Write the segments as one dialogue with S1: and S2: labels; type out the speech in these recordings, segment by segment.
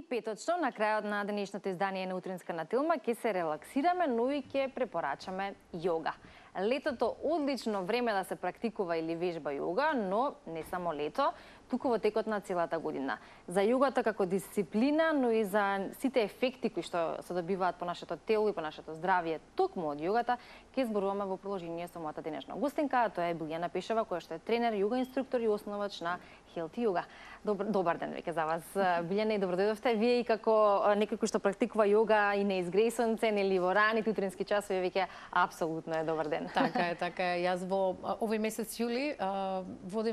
S1: петочно, на крајот на денешното издание на Утринска на Тилма, ќе се релаксираме, но и ќе препорачаме јога. Летото одлично време да се практикува или вежба јога, но не само лето, туку во текот на целата година. За јогата како дисциплина, но и за сите ефекти кои што се добиваат по нашето тело и по нашето здравје токму од јогата, ќе зборуваме во продолжение со мојата денешна гостинка, тоа е Билјана Пешева, која што е тренер, јога инструктор и основач на Healthy Yoga. Добар ден веќе за вас, Билјана, и добро дојдовте. Вие и како некој кој што практикува јога и не изгресонце, нели во раните утрински часови, веќе апсолутно е добар ден.
S2: Така е, така е. Јас во овој месец јули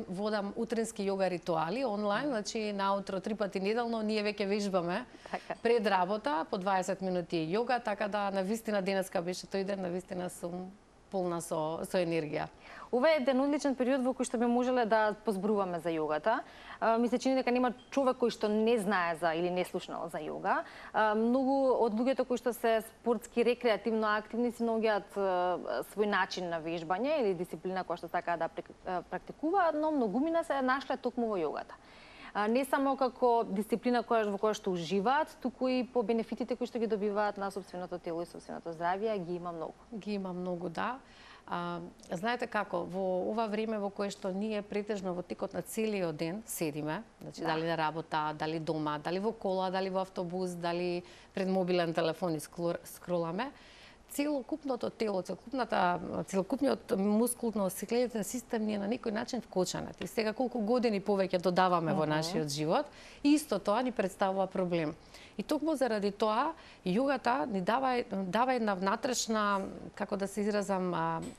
S2: водам утрински јога ритуали онлайн, значи наутро 3 пати неделно ние веќе вежбаме пред работа по 20 минути јога, така да навистина денеска беше тој ден, навистина сум полна со енергија.
S1: Ова е еден одличен период во кој што би можеле да позборуваме за јогата. Ми се чини дека нема човек кој што не знае за или не слушнал за јога. Многу од луѓето кои што се спортски рекреативно активни си наоѓаат свој начин на вежбање или дисциплина која што сакаат да практикуваат, но многумина се нашле токму во јогата. Не само како дисциплина во која што уживаат, туку и по бенефитите кои што ги добиваат на собственото тело и собственото здравје, ги има многу.
S2: Ги има многу, да. Знаете како, во ова време во кое што ние претежно во текот на целиот ден седиме, значи дали на работа, дали дома, дали во кола, дали во автобус, дали пред мобилен телефон и скроламе, целокупното тело, целокупниот мускулно-скелетен систем ни е на некој начин вкоченет. И сега колку години повеќе додаваме во нашиот живот, исто тоа ни представува проблем. И токму заради тоа, јогата ни дава една внатрешна, како да се изразам,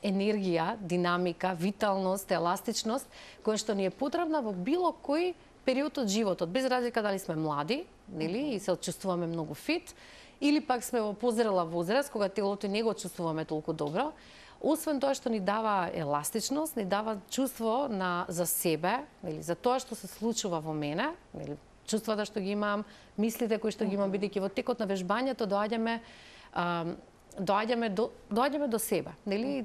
S2: енергија, динамика, виталност, еластичност, која што ни е потребна во било кој период од животот, без разлика дали сме млади, нели, и се чувствуваме многу фит, или пак сме во позрела возраст, кога телото не го чувствуваме толку добро. Освен тоа што ни дава еластичност, ни дава чувство за себе, или за тоа што се случува во мене, или чувствата што ги имам, мислите кои што ги имам, бидејќи во текот на вежбањето доаѓаме до себе, нели?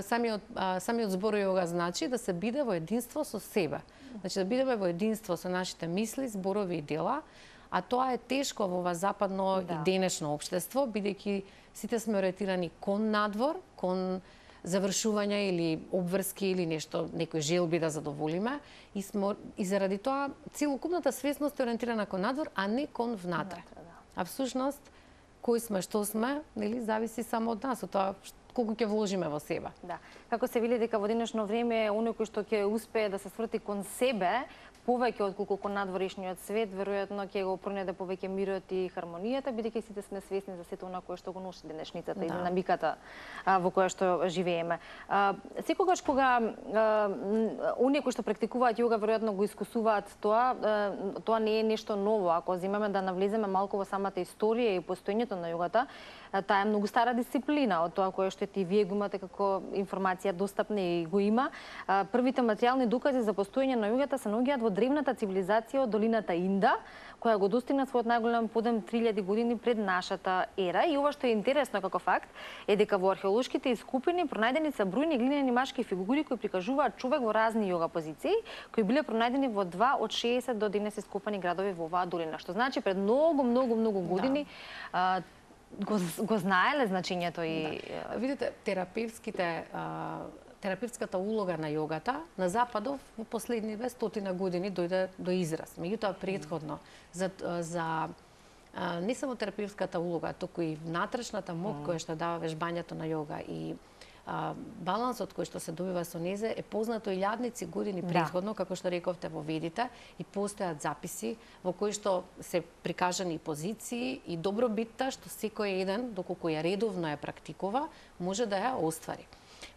S2: Самиот збор јога значи да се биде во единство со себе. Значи да бидеме во единство со нашите мисли, зборови и дела, а тоа е тешко во ова западно и денешно општество, бидејќи сите сме ориентирани кон надвор, кон завршување или обврски или нешто, некои желби да задоволиме, и заради тоа целокупната свесност е ориентирана кон надвор, а не кон внатре. А всушност, кои сме, што сме, нели, зависи само од нас, од тоа колку ќе вложиме во себе.
S1: Да. Како се вели дека во денешно време оној кој што ќе успее да се сврти кон себе, повеќе отколку кон надворешниот свет, веројатно ќе го пронеде повеќе мирот и хармонијата, бидејќи сите сме свесни за сето она кое што го носи денешницата и динамиката во која што живееме. Секогаш кога оние кои што практикуваат јога веројатно го искусуваат тоа не е нешто ново. Ако земеме да навлеземе малку во самата историја и постоењето на јогата, таа е многу стара дисциплина од тоа кое што и вие го имате како информација достапна и го има. Првите материјални докази за постоење на јогата се наоѓаат во древната цивилизација од долината Инда, која го достигна својот најголем подем 3000 години пред нашата ера. И ова што е интересно како факт е дека во археолошките искупини пронајдени се бројни глинени машки фигури кои прикажуваат човек во разни јога позиции, кои биле пронајдени во 2 од 60 до денес ископани градови во оваа долина. Што значи пред многу години го знаеле значењето и...
S2: Видите, терапевтската улога на јогата на Западов во последниве 100 години дојде до израз. Меѓутоа претходно за не само терапевтската улога, туку и внатрешната мок која што дава вежбањето на јога и балансот кој што се добива со незе е познато илјадници години претходно, како што рековте во Ведите, и постојат записи во кои што се прикажани позиции и добробитта што секој еден, доколку ја редовно ја практикува, може да ја оствари.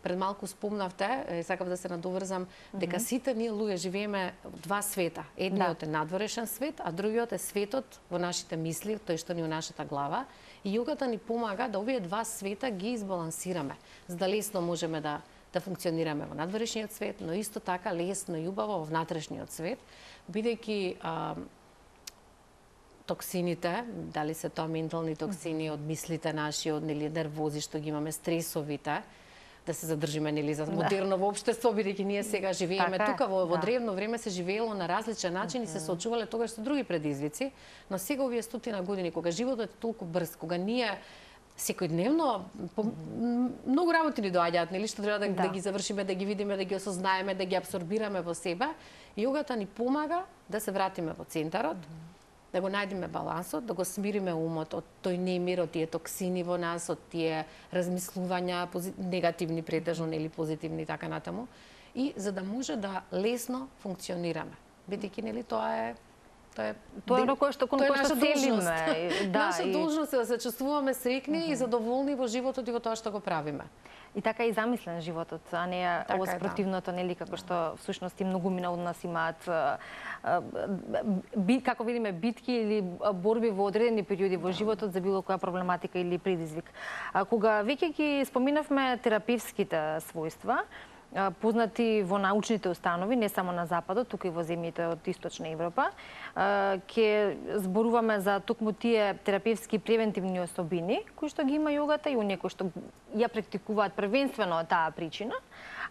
S2: Пред малку спомнавте, сакав да се надоврзам, дека сите ние луѓе живееме два света. Едниот е надворешен свет, а другиот е светот во нашите мисли, тој што ни е нашата глава. И јогата ни помага да овие два света ги избалансираме, за да лесно можеме да функционираме во надворешниот свет, но исто така лесно и убаво во внатрешниот свет, бидејќи токсините, дали се тоа ментални токсини од мислите наши, од нервози што ги имаме, стресовите, да се задржиме нели за модерново општество, бидејќи ние сега живееме тука во древно време се живеело на различен начин и се соочувале тогаш со други предизвици, но сега овие стотина години кога животот е толку брз, кога ние секојдневно многу работи ни доаѓаат, нели, што треба да ги завршиме, да ги видиме, да ги осознаеме, да ги апсорбираме во себе. Јогата ни помага да се вратиме во центарот, да го најдеме балансот, да го смириме умот од тој немир, од тие токсини во нас, од тие размислувања, негативни претежно, нели позитивни и така натаму, и за да може да лесно функционираме. Бидејќи нели тоа е
S1: оно кое што целиме.
S2: Наша должност е да се чувствуваме среќни и задоволни во животот и во тоа што го правиме.
S1: И така и замислен животот, а не ово спротивното, нели, како што всушност и многумина од нас имаат како видиме битки или борби во одредени периоди во животот за било која проблематика или предизвик. Кога веќе ги споминавме терапевските својства, познати во научните установи, не само на Западот, тука и во земјите од Источна Европа, ќе зборуваме за токму тие терапевски превентивни особини, кои што ги има јогата и оние кои што ја практикуваат првенствено таа причина,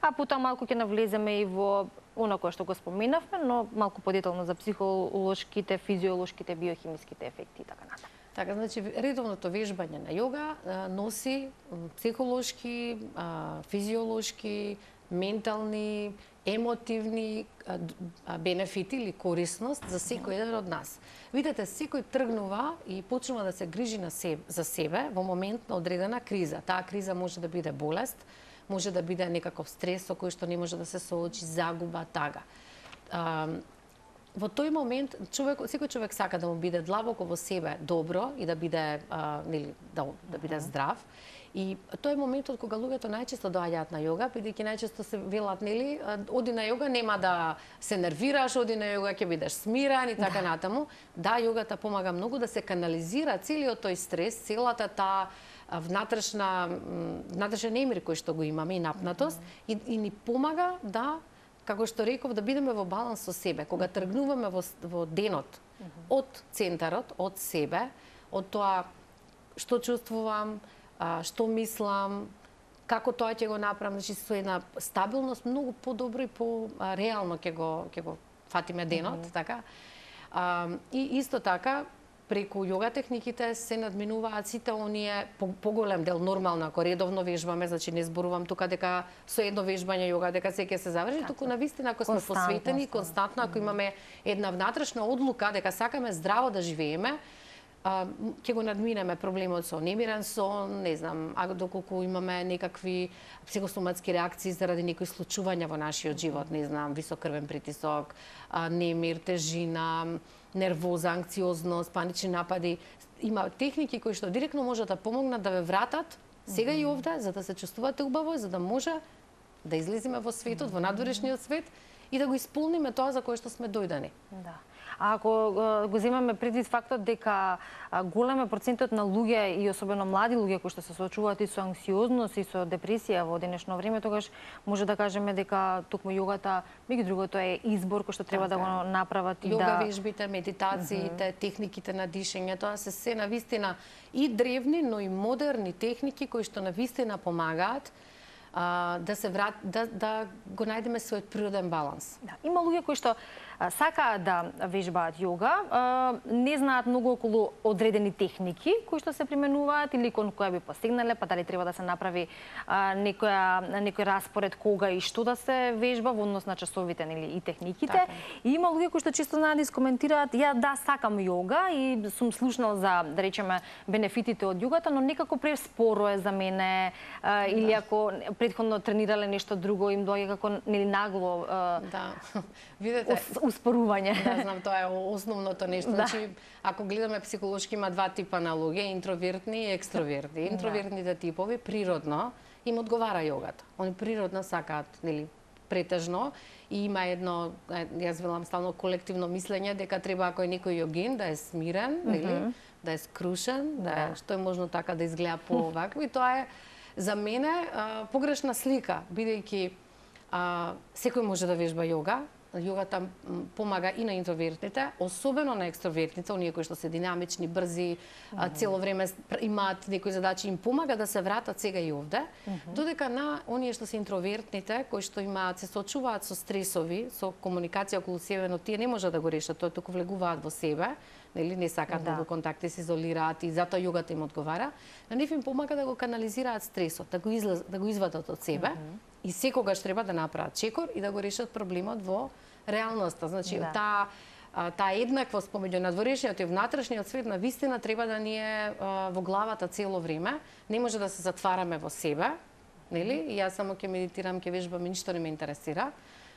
S1: а потоа малку ќе навлеземе и во оно кое што го споменавме, но малку подетално за психолошките, физиолошките, биохимиските ефекти и така натаму.
S2: Така, значи, редовното вежбање на јога носи психолошки, физиолошки, ментални, емотивни бенефити или корисност за секој еден од нас. Видете, секој тргнува и почнува да се грижи за себе во момент на одредена криза. Таа криза може да биде болест, може да биде некаков стрес со кој што не може да се соочи, загуба, тага. Во тој момент секој човек сака да му биде длабоко во себе добро и да биде нели да биде здрав. И тој е моментот кога луѓето најчесто доаѓаат на јога, бидејќи најчесто се велат, нели, оди на јога, нема да се нервираш, оди на јога ќе бидеш смирен и така натаму. Да, јогата помага многу да се канализира целиот тој стрес, целата таа внатрешен немир кој што го имаме и напнатост и ни помага да, како што реков, да бидеме во баланс со себе. Кога тргнуваме во денот од центарот, од себе, од тоа што чувствувам, што мислам, како тоа ќе го направам, значи со една стабилност многу подобро и по-реално ќе го фатиме денот, така. И исто така преку јога техниките се надминуваат сите оние поголем дел нормално ако редовно вежбаме, значи не зборувам тука дека со едно вежбање јога дека се ќе се заврши, туку навистина ако сме посветени константно, ако имаме една внатрешна одлука дека сакаме здраво да живееме, ќе го надминеме проблемот со немирен сон, не знам, а доколку имаме некакви психосоматски реакции заради некои случувања во нашиот живот, не знам, висок крвен притисок, немир, тежина, нервоза, анксиозност, панични напади. Има техники кои што директно можат да помогнат да ве вратат сега и овде, за да се чувствувате убаво, за да може да излеземе во светот, во надворешниот свет и да го исполниме тоа за кое што сме дојдени.
S1: Да. А ако го земаме предвид фактот дека голем е процентот на луѓе и особено млади луѓе кои што се соочуваат и со анксиозност и со депресија во денешно време, тогаш може да кажеме дека токму јогата, меѓу другото, е избор кој што треба да го направат и да
S2: јога вежбите, медитациите, техниките на дишење, тоа се навистина и древни, но и модерни техники кои што навистина помагаат да го најдеме својот природен баланс.
S1: Да, има луѓе кои што сакаат да вежбаат јога, не знаат многу околу одредени техники кои што се применуваат или кон која би постигнале, па дали треба да се направи некој распоред кога и што да се вежба во однос на часовите и техниките.
S2: Така.
S1: И има луѓе кои што често знаат да искоментираат, ја да сакам јога и сум слушнал за, да речеме, бенефитите од јогата, но некако преспоро е за мене, или ако претходно тренирале нешто друго, им доаѓа како нагло
S2: видете,
S1: успорување.
S2: Да, знам, тоа е основното нешто. Значи, ако гледаме психолошки, има два типа на луѓе, интровертни и екстровертни. Интровертните типови природно им одговара јогата. Они природно сакаат, нели, претежно и има едно, јас велам стално колективно мислење дека треба ако е некој јогин да е смирен, нели, да е скрушен, што е можно така да изгледа повакво и тоа е за мене погрешна слика, бидејќи секој може да вежба јога, јогата помага и на интровертните, особено на екстровертните, оние кои што се динамични, брзи, цело време имаат некои задачи, им помага да се вратат сега и овде, додека на оние што се интровертните, кои што имаат се соочуваат со стресови, со комуникација околу себе, но тие не можат да го решат, тоа туку влегуваат во себе, нели не сакаат многу контакти, се изолираат и затоа јогата им одговара, на нив им помага да го канализираат стресот, да го извадат од себе и секогаш треба да направат чекор и да го решат проблемот во реалноста. Значи таа еднаквост помеѓу надворешниот и внатрешниот свет на вистина треба да ни е во главата цело време. Не може да се затвараме во себе, нели? И јас само ќе медитирам, ќе вежбам, ништо не ме интересира.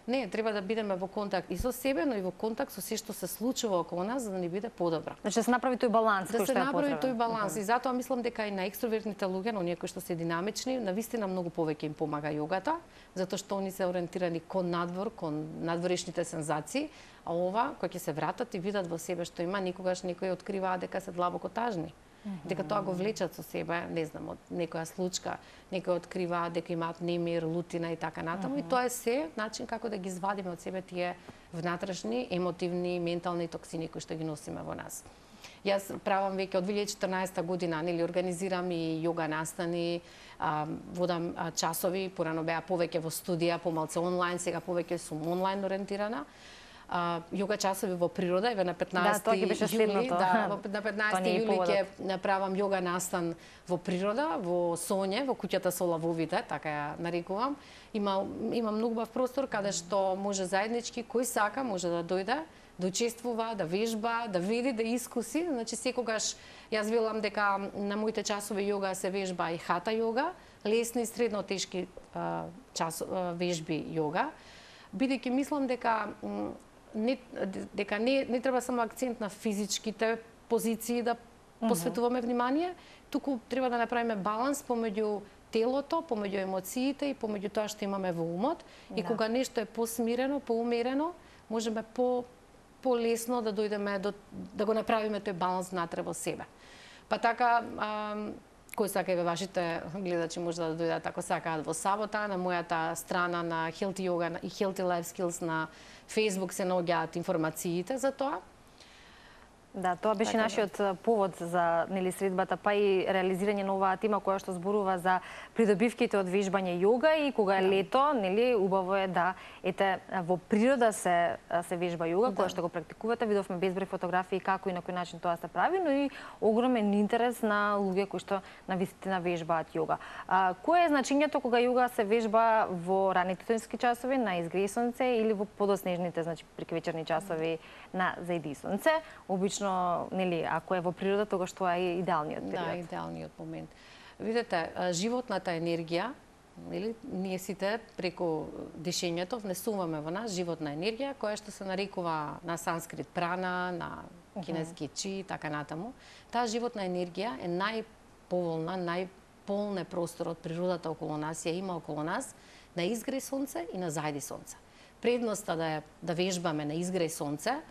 S2: Не, треба да бидеме во контакт и со себе, но и во контакт со се што се случува околу нас, за да ни биде подобро.
S1: Значи да се направи тој баланс кој што е потребен.
S2: Да се направи тој баланс и затоа мислам дека и на екстровертните луѓе, на оние кои што се динамични, навистина многу повеќе им помага јогата, затоа што они се ориентирани кон надвор, кон надворешните сензации, а ова кој ќе се вратат и видат во себе што има, никогаш некои откриваат дека се длабоко тажни. Дека тоа го влечат со себе, не знам, од некоја случка, некои откриваат дека имаат немир, лутина и така натаму, и тоа е се начин како да ги извадиме од себе тие внатрешни, емотивни, ментални токсини кои што ги носиме во нас. Јас правам веќе од 2014 година, нели, организирам и јога настани, водам часови, порано беа повеќе во студија, помалку онлайн, сега повеќе сум онлайн ориентирана. Јога часови во природа, еве на 15 јули, на 15 јули ќе направам јога настан во природа, во Соње, во куќата со лавовите, така ја нарекувам. Има многу бав простор каде што може заеднички кој сака може да дојде, да учествува, да вежба, да види, да искуси. Значи секогаш јас велам дека на моите часови јога се вежба и хата јога, лесни и средно тешки вежби јога, бидејќи мислам дека не треба само акцент на физичките позиции да посветуваме внимание, туку треба да направиме баланс помеѓу телото, помеѓу емоциите и помеѓу тоа што имаме во умот. И кога нешто е посмирено, поумерено, можеме полесно да дојдеме да го направиме тој баланс внатре во себе. Па така, кој сака и вашите гледачи може да дојдат ако сакаат во сабота на мојата страна на Healthy Yoga и Healthy Life Skills на Facebook се наоѓаат информациите за тоа.
S1: Да, тоа беше нашиот повод за средбата, па и реализирање на оваа тема која што зборува за придобивките од вежбање јога и кога е лето, убаво е да во природа се вежба јога, која што го практикувате. Видовме безброј фотографии како и на кој начин тоа се прави, но и огромен интерес на луѓе кои што навистина вежбаат јога. Кое е значењето кога јога се вежба во ранните детински часови на изгреј сонце или во подоснежните, значи преквечерни часови на зајди сонце? Обично, ако е во природа, тогаш тоа е идеалниот период.
S2: Да, идеалниот момент. Видете, животната енергија, ние сите преку дишењето внесуваме во нас животна енергија, која што се нарекува на санскрит прана, на кинески чи и така натаму. Таа животна енергија е најповолна, најполна простор од природата околу нас, ја има околу нас, на изгреј сонце и на зајди сонце. Предноста да вежбаме на изгреј сонце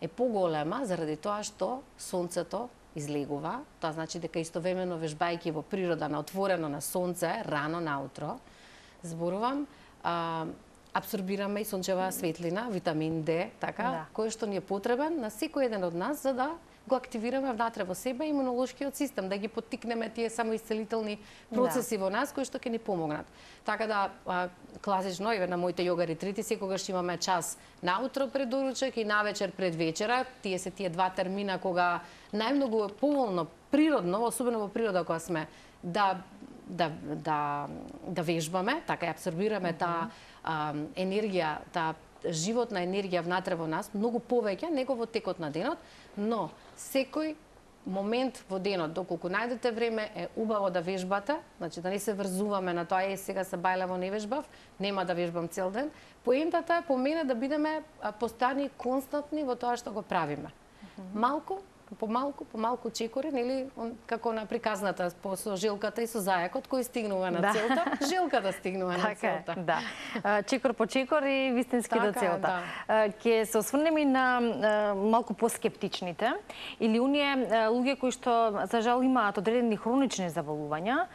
S2: е поголема заради тоа што сонцето излегува. Тоа значи дека истовремено вежбајќи во природа на отворено на сонце, рано наутро, зборувам, апсорбираме и сончева светлина, витамин Д, така, кој што ни е потребен на секој еден од нас за да го активираме внатре во себе имунолошкиот систем, да ги поттикнеме тие самоисцелителни процеси во нас кои што ќе ни помогнат. Така да класично еве на моите јога ретрити секогаш имаме час наутро пред доручек и навечер пред вечера. Тие се тие два термина кога најмногу поволно, природно, особено во природа кога сме да вежбаме, така ја апсорбираме таа енергија, таа животна енергија внатре во нас, многу повеќе него во текот на денот, но секој момент во денот, доколку најдете време, е убаво да вежбате, значи да не се врзуваме на тоа, сега се бајлево не вежбав, нема да вежбам цел ден. Поентата е по мене да бидеме постојани, константни во тоа што го правиме. Малку, помалку чекори, нели, како на приказната со жилката и со зајакот кој стигнува на целта, жилката стигнува на целта.
S1: Да. Чекор по чекор и вистински до целта. Ќе се осврнеме и на малку поскептичните или оние луѓе кои што за жал имаат одредени хронични заболувања.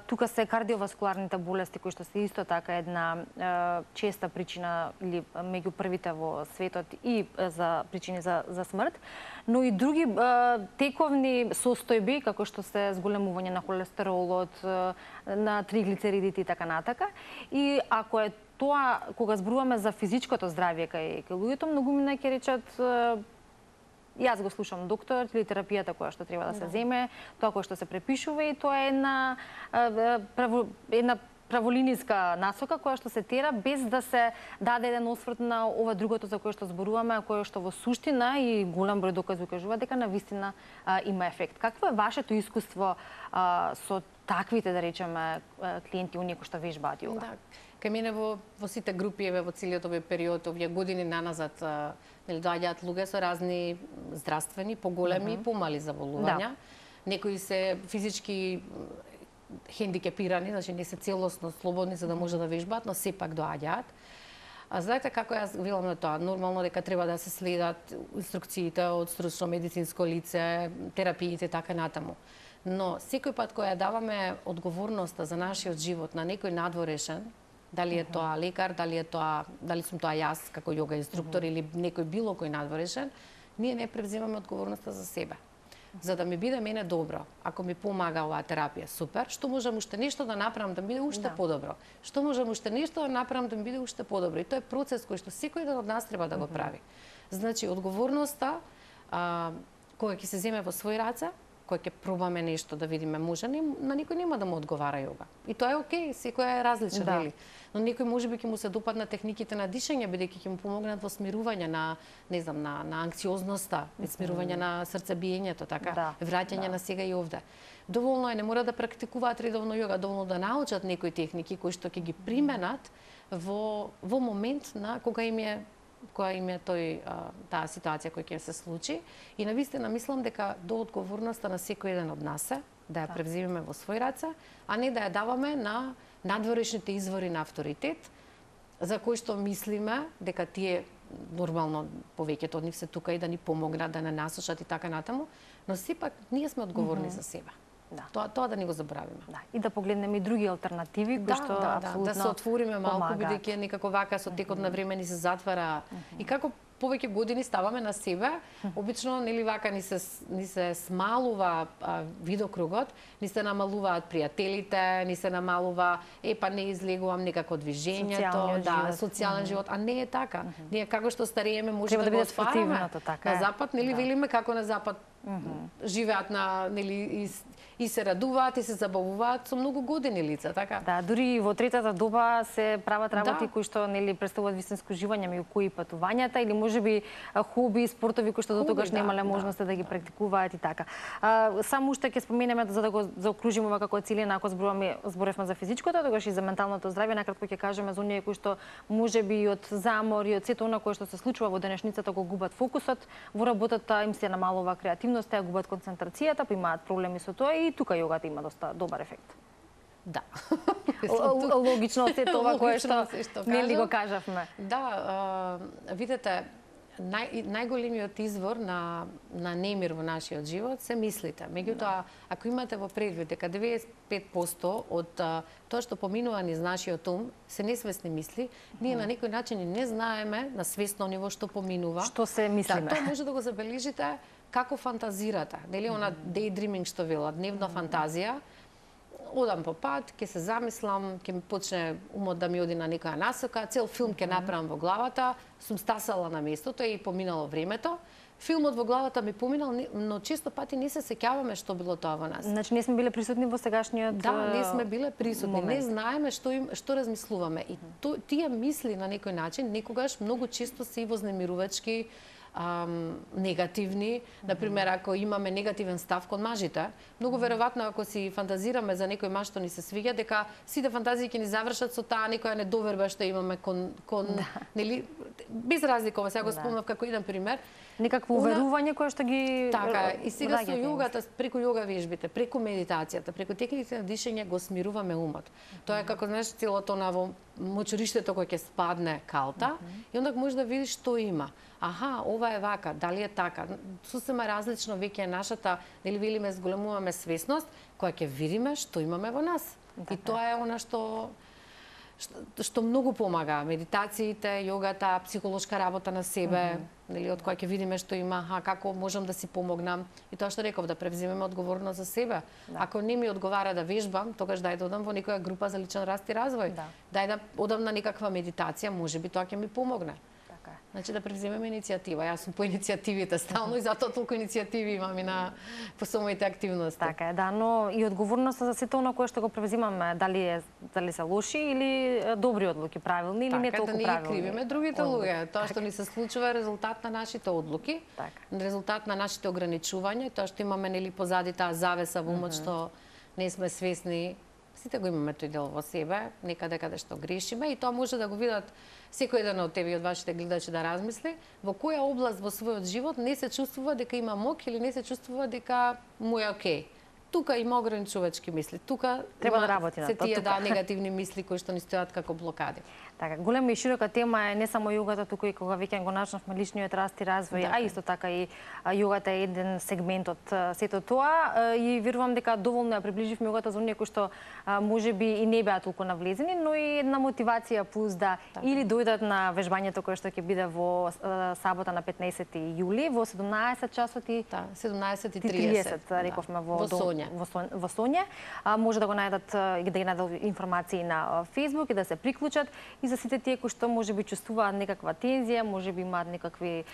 S1: Тука се кардиоваскуларните болести кои што се исто така една честа причина или меѓу првите во светот и за причини за смрт, но и други тековни состојби како што се зголемување на холестеролот, на триглицеридите и така натака. И ако е тоа кога зборуваме за физичкото здравје кај луѓето, многумина ќе речат јас го слушам доктор или терапијата која што треба да се земе, тоа кој што се препишува и тоа е една праволиниска насока која што се тера без да се даде еден осврт на ова другото за кое што зборуваме, а кое што во суштина и голем број докази укажува дека навистина има ефект. Какво е вашето искуство со таквите, да речеме, клиенти, оние кои што вежбаат јога?
S2: Да. Кај мене во сите групи, во целиот овој период, овие години наназад, доаѓаат луѓе со разни здравствени, поголеми и помали заболувања. Некои се физички хендикепирани, значи не се целосно слободни за да може да вежбаат, но сепак доаѓаат. Знаете како јас велам на тоа? Нормално дека треба да се следат инструкциите од стручно медицинско лице, терапиите така натаму. Но секој пат кога ја даваме одговорноста за нашиот живот на некој надворешен, дали е тоа лекар, дали сум тоа јас како јога инструктор или некој било кој надворешен, ние не превземаме одговорноста за себе. За да ми биде мене добро, ако ми помага оваа терапија, супер, што можам уште нешто да направам да ми биде уште подобро? Што можам уште нешто да направам да ми биде уште подобро? И тоа е процес кој што секој ден од нас треба да го прави. Значи, одговорноста, кога ќе се земе во свој раце, кога ќе пробаме нешто да видиме може, на никој нема да му одговара јога. И тоа е окей, секој е различен, нели? Но некој можеби ќе му се допадна техниките на дишење, бидејќи ќе му помогнат во смирување на, не знам, на анксиозноста, смирување на срцебиењето, така, враќање на сега и овде. Доволно е, не мора да практикуваат редовно јога, доволно да научат некои техники кои што ќе ги применат во момент на кога им е таа ситуација која ќе се случи. И навистина мислам дека до одговорноста на секој еден од нас е да ја превземеме во свој раце, а не да ја даваме на надворешните извори на авторитет, за кои што мислиме дека тие нормално повеќето од нив се тука и да ни помогнат, да не насушат и така натаму, но сепак ние сме одговорни за себе. Тоа да не го заборавиме.
S1: И да погледнеме и други алтернативи кои што апсолутно
S2: да се отвориме малку, бидејќи некако вака со текот на време ни се затвара. И како повеќе години ставаме на себе, обично нели вака ни се смалува видокругот, ни се намалуваат пријателите, ни се намалува па не излегувам некако движењето, социјален живот, а не е така. Ние како што старееме може да го отвараме. На запад нели велиме како на запад живеат нели и се радуваат и се забавуваат со многу години лица, така?
S1: Да, дури во третата доба се прават работи кои што нели представуваат вистинско живење, меѓу кои патувањата или можеби хоби, спортови кои што дотогаш немале можност да ги практикуваат и така. Само уште ќе споменеме за да го заокружиме ова како целина, ако зборевме за физичкото, тогаш и за менталното здравје, накратко ќе кажеме за оние кои што можеби и од замор и од сето она кое што се случува во денешницата го губат фокусот, во работата им се намалува креативноста, ја губат концентрацијата, па имаат проблеми со тоа и тука јогата има доста добар ефект.
S2: Да.
S1: Логично се тоа кое што нели го кажавме.
S2: Да, видете, најголемиот извор на немир во нашиот живот се мислите. Меѓутоа, ако имате во предвид дека 95% од тоа што поминува низ нашиот ум се несвесни мисли, ние на некој начин и не знаеме на свесно ниво што поминува.
S1: Што се мислиме.
S2: Тоа може да го забележите како фантазирате. Нели она daydreaming што вела, дневна фантазија, одам по пат, ќе се замислам, ќе ми почне умот да ми оди на некоја насока, цел филм ќе направам во главата, сум стасала на местото и поминало времето. Филмот во главата ми поминал, но често пати не се сеќаваме што било тоа во нас.
S1: Значи не сме биле присутни во сегашниот
S2: Да, не сме биле присутни, не знаеме што размислуваме. И тие мисли на некој начин некогаш многу често се и вознемирувачки, негативни. Например, ако имаме негативен став кон мажите, многу веројатно ако си фантазираме за некој маж што ни се свиѓа, дека сите фантазии ќе ни завршат со таа некоја недоверба што имаме кон нели без разлика, сега го спомнав како еден пример.
S1: Некакво уверување кое што ги
S2: така, и сега со јогата, преку јога вежбите, преку медитацијата, преку техниките на дишење го смируваме умот. Тоа е како знаеш целото на во мочуриштето кој ќе спадне калта и онда можеш да видиш што има. Аха, ова е вака, дали е така. Сосема различно веќе е нашата, нели велиме зголемуваме свесност, која ќе видиме што имаме во нас. И тоа е она што многу помага. Медитациите, јогата, психолошка работа на себе, нели од која ќе видиме што има, како можам да си помогнам. И тоа што реков, да превземеме одговорност за себе. Ако не ми одговара да вежбам, тогаш дај да одам во некоја група за личен раст и развој. Дај да одам на некаква медитација, можеби тоа ќе ми помогне. Значи да превземеме иницијатива. Јас сум по иницијативите стално и затоа толку иницијативи имам и по самите активности.
S1: Така е, да, но и одговорноста за сето оно кое што го превземаме, дали се лоши или добри одлуки, правилни или не толку правилни.
S2: Така, да не ги кривиме другите луѓе. Тоа што ни се случува е резултат на нашите одлуки, резултат на нашите ограничувања, тоа што имаме нели позади таа завеса во умот што не сме свесни. Сите го имаме тој дел во себе, некаде каде што грешиме и тоа може да го видат секој еден од тебе и од вашите гледачи да размисли во која област во својот живот не се чувствува дека има мок или не се чувствува дека му е окей. Тука има ограничувачки мисли, тука
S1: треба да работи на тоа.
S2: Се тие негативни мисли кои што ни стојат како блокади.
S1: Така, голема и широка тема е не само јогата, туку и кога веќе го начнавме личниот раст и развој, а исто така и јогата е еден сегмент од сето тоа и верувам дека доволно ја приближивме јогата за оние кои што можеби и не беа толку навлезени, но и една мотивација плюс да или дојдат на вежбањето кое што ќе биде во сабота на 15 јули во 17 часот и
S2: 17:30
S1: рековме во
S2: Сонја.
S1: Во Сонја. Може да го најдат и да ги најдат информации на Facebook и да се приклучат. И за сите тие кои што можеби чувствуваат некаква тензија, можеби имаат некакви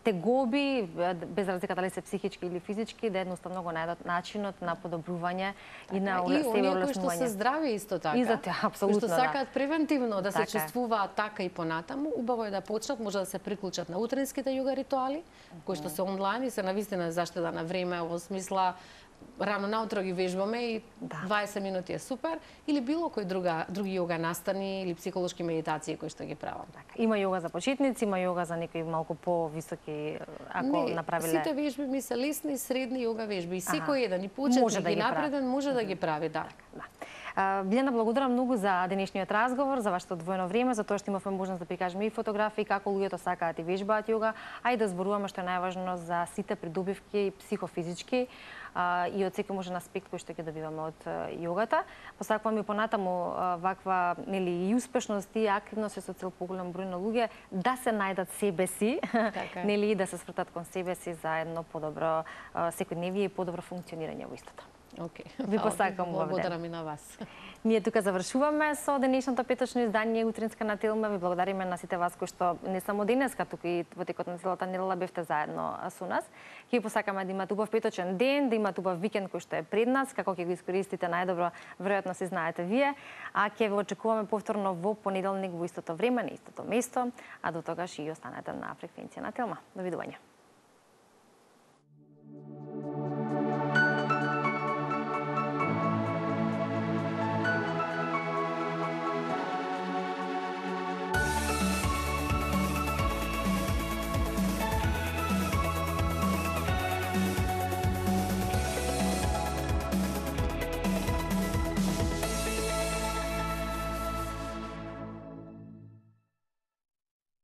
S1: тегоби, без разлика дали се психички или физички, да едноставно го најдат начинот на подобрување и на себе олеснување. И оние кои што се здрави исто така.
S2: И за тоа, апсолутно, кои што сакаат превентивно да се чувствуваат така и понатаму, убаво е да почнат, може да се приклучат на утринските јога ритуали, кои што се онлайн и се навистина заштеда на време, во смисла рано наутро ги вежбаме и 20 минути е супер, или било кој други јога настани или психолошки медитации кои што ги правам.
S1: Има јога за почетници, има јога за некои малку повисоки, ако направиле.
S2: Сите вежби ми се лесни, средни јога вежби и секој еден и почетник и напреден може да ги прави, да.
S1: Билјана, благодарам многу за денешниот разговор, за вашето одвоено време, за тоа што имавме можност да прикажеме и фотографии како луѓето сакаат и вежбаат јога, а и да зборуваме што е најважно за сите придобивки психофизички и од секој можен аспект кој што ќе добиваме од јогата. Посакувам и понатаму ваква нели и успешност и активност со цел поголем број на луѓе да се најдат себе си, нели да се свртат кон себе си за едно подобро секојдневие и подобро функционирање во истото. Ви посакам
S2: благодарам и на вас.
S1: Ние тука завршуваме со денешното петочно издание Утринска на Телма. Ви благодариме на сите вас кои што не само денеска, туку и во текот на целата недела бевте заедно со нас. Ќе ви посакаме да имате убав петочен ден, да имате убав викенд кој што е пред нас, како ќе го искористите најдобро, веројатно се знаете вие, а ќе ве очекуваме повторно во понеделник во истото време, на истото место, а до тогаш и останете на фреквенција на Телма. Довидување.